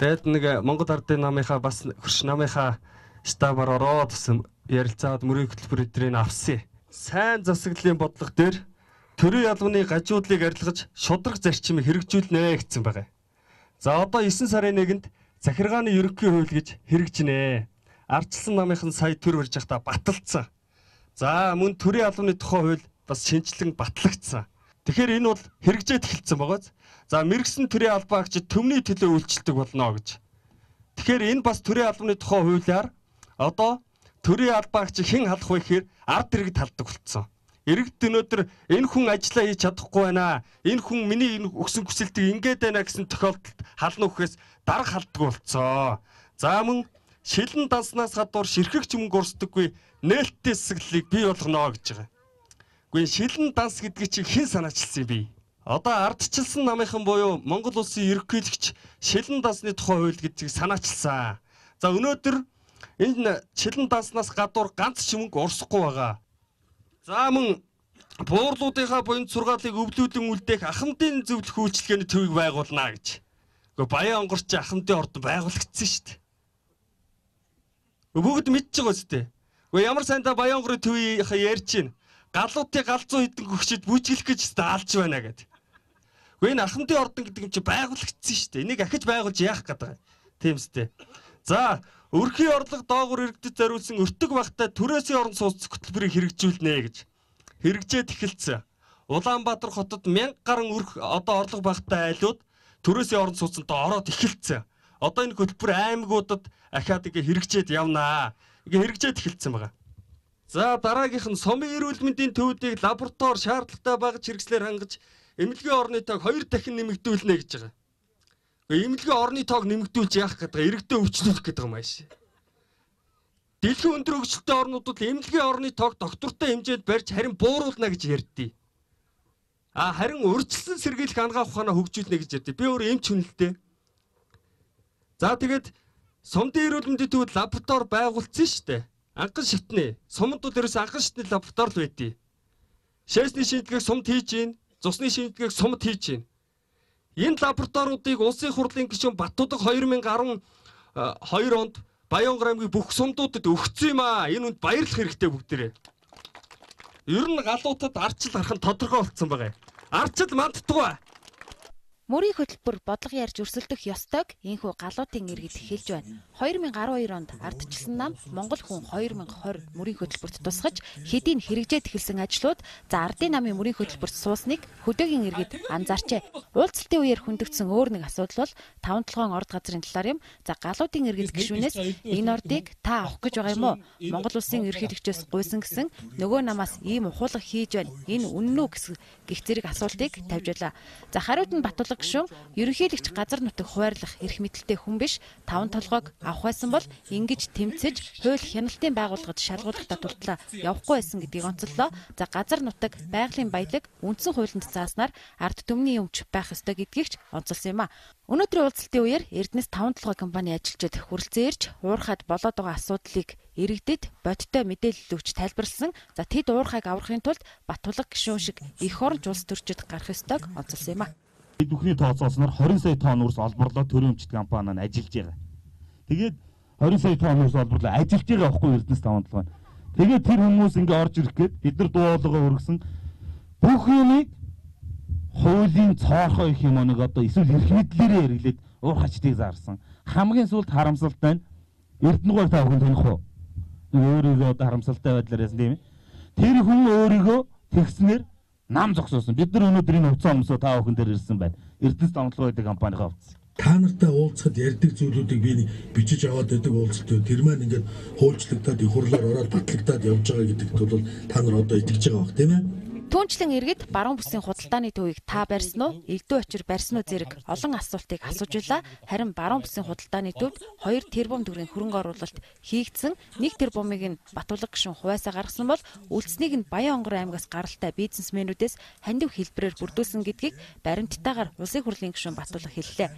Тэгээд нэг Монгол Ардын намынхаа бас хөрш намынхаа штабаар ороод ярилцаад мөрийн хөтөлбөрийн авсан. Сайн засаглалын бодлого дээр төрийн албаны гажуудлыг арилгаж шудраг зарчмыг хэрэгжүүлнэ гэсэн байна. За одоо 9 сарын 1-нд захиргааны ерөнхий хууль гэж хэрэгжинэ. Ардчилсан намынхан сая төр барьж байхдаа баталцсан. За мөн төрийн албаны тухай хууль бас шинжилэн батлагдсан. Тэгэхээр энэ бол хэрэгжээд эхэлсэн байгааз. За мэрэгсэн төрийн албаагчид төмний төлөө үйлчлдэг болно гэж. Тэгэхээр энэ бас төрийн албаны тухай хуулиар одоо төрийн албаагч хэн халах вэ гэхээр ард иргэд халдаг болсон. Иргэд өнөөдөр энэ хүн ажиллаа хийж чадахгүй байна. Энэ хүн миний энэ өгсөн хүсэлтийг ингээд байна гэсэн тохиолдолд хална үхээс дарга халддаг болсон. За мөн шилэн данснаас гадуур ширхэг ч мөнгө урсдаггүй нээлттэй засаглалыг бий болгоно гэж байгаа. Гэхдээ шилэн данс гэдэг чинь хэн санаачилсан юм бэ? Одоо ардчилсан намынхан буюу Монгол улсын ерөнхийлөгч шилэн дансны тухай хууль гэдгийг санаачилсан. За өнөөдөр энэ шилэн данснаас гадуур ганц ч мөнгө урсахгүй байгаа. За мөн буурлуудынхаа буян сургаалыг өвлүүлэн үлдээх ахмадын зөвлөх үйлчилгээний төвийг байгуулна гэж. Гэхдээ Баян онгорч ахмадын ордон байгуулагдсан шүү дээ. Бүгд мэдж байгаа зү. Гэхдээ ямар сайндаа Баян онгорын төвийг ярьж байна. Галуутын галзуу хідэн гөгчд бүжиглэх гэж алж байна гэдэг. Гэхдээ энэ ахмадын ордон гэдэг юм чи байгуулагдсан шүү дээ. Энийг ахиж байгуулж яах гэдэг. Тийм үстэй. За өрхийн орлого доогуур иргэдэд зориулсан өртөг багтаа түрээсийн орон сууц хөтөлбөрийг хэрэгжүүлнэ гэж хэрэгжээд эхэлсэн. Улаанбаатар хотод 1000 гаруй орлого багтаа айлууд түрээсийн орон сууцанд ороод эхэлсэн. Одоо энэ хөтөлбөр аймагуудад ахаад хэрэгжээд явнаа. Хэрэгжээд эхэлсэн байгаа. За дараагийнх нь сумын эрүүл мэндийн төвүүдийг лаборатори шаардлагатай багаж хэрэгслээр хангаж эмнэлгийн орны тоог 2 дахин нэмэгдүүлнэ гэж байгаа. Эмнэлгийн орны тоог нэмэгдүүлж яах гэдэг иргэдэд өвчлөх гэдэг юм ааш. Дэлхийн өндөр хөгжилтэй орнуудад эмнэлгийн орны тоог доктортой хэмжээнд барьж харин бууруулна гэж ярьдээ. Харин урьдчилсан сэргийлэх ангаах ухаанаа хөгжүүлнэ гэж ярьдээ. Би өөр эмч хүн л дээ. За тэгээд сумдын эрүүл мэндийн төвд лаборатори байгуулсан шүү дээ. Анхан шатны сумд бол ерөөс анхан шатны лаборатори л байдیں۔ Шээсний шинжилгээг сумд хийж гин, цусны шинжилгээг сумд хийж гин. Энэ лабораториудыг улсын хурлын гишүүн Баттуудаг 2012 онд Баянгар аймгийн бүх сумдуудад өгсөн юм аа. Энэ үнд баярлах хэрэгтэй бүгдээрээ. Ер нь галуутад арчил харах нь тодорхой болсон байгаа. Арчил мандтугай. Мөрийн хөтөлбөр бодлого ярьж өрсөлдөх ёстойг энхүү галуутын иргэд хэлж байна. 2012 онд ардчилсан нам Монгол хүн 2020 мөрийн хөтөлбөрт тусгаж хэдийн хэрэгжээд эхэлсэн ажлууд за ардын намын мөрийн хөтөлбөрт суусныг хөдөөгийн иргэд анзаарчээ. Уулзалтын үеэр хөндөгдсөн өөр нэг асуудал бол 5-7 орд газрын талаар юм. За галуутын иргэд гишүүнээс энэ ордыг та авах гэж байгаа юм уу? Монгол улсын ерөнхийлөгчөөс гуйсан гэсэн нөгөө намаас ийм ухуулга хийж байна. Энэ үнэн үү гэх зэрэг асуултыг тавьж байлаа. За хариуд нь Батулга гишүүн ерөнхийлөгч газар нутаг хуваарлах эрх мэдэлтэй хүн биш 5 толгойг авах байсан бол ингэж тэмцэж хууль хяналтын байгууллагад шалгуулахдаа дурдлаа явахгүй байсан гэдгийг онцоллоо. За газар нутаг байгалийн баялаг үндсэн хуулинд зааснаар ард түмний өмч байх ёстой гэдгийг ч онцолсон юм а. Өнөөдрийн уулзалтын үеэр Эрдэнэс 5 толгой компани ажилчид хүрэлцэн ирж уурхад болоод байгаа асуудлыг иргэдэд бодиттой мэдээлэл өгч тайлбарласан. За тэд уурхайг аврахын тулд Батулга гишүүн шиг эх оронч улс төрчид гарах ёстойг онцолсон юм а. Бүхний тооцоолсноор 20 сая тонн үрс олборлоо төрийн өмчт компани нь ажиллаж байгаа. Тэгээд 20 сая тонн үрс олборлоо ажиллаж байгаа байхгүй Эрдэнэс 5 толгой. Тэгээд тэр хүмүүс ингээ орж ирэх гээд бид нар дуулгаа өргөсөн бүх юмыг хуулийн цоорхоо их юм нэг одоо эсвэл эрх мэдлээрээ хэрэглээд уурхачдыг заарсан. Хамгийн сүүлд харамсалтай нь Эрдэнэгээр та бүхэн таних уу? Өөрийгөө одоо харамсалтай байдлаар яасан тийм ээ. Тэр хүн өөрийгөө тэгснээр нам зогсоосон. Бид нар өнөөдөр энэ хувцас өмсөө та бүхэн дээр ирсэн байна. Эрдэнэс 5 толгой гэдэг компанийн хувцас. Та нартай уулзахад ярьдаг зүйлүүдийг би бичиж аваад байдаг уулзалт. Тэр маань ингээд хуульчлагдаад их хурлаар ороод батлагдаад явж байгаа гэдэгт бол та нар одоо итгэж байгаа бох тийм ээ. Түүнчлэн иргэд баруун бүсийн худалдааны төвийг та барьсан уу, элдв очир барьсан уу зэрэг олон асуултыг асууж байлаа. Харин баруун бүсийн худалдааны төвд 2 тэрбум төгрөгийн хөрөнгө оруулалт хийгдсэн. 1 тэрбумыг нь Батулга гишүүн хуваасаа гаргасан бол үлдсэнийг нь Баян онгорын аймгаас гаралтай бизнесмэнүүдээс хандив хэлбэрээр бүрдүүлсэн гэдгийг баримттайгаар улсын хурлын гишүүн Батулга хэллээ.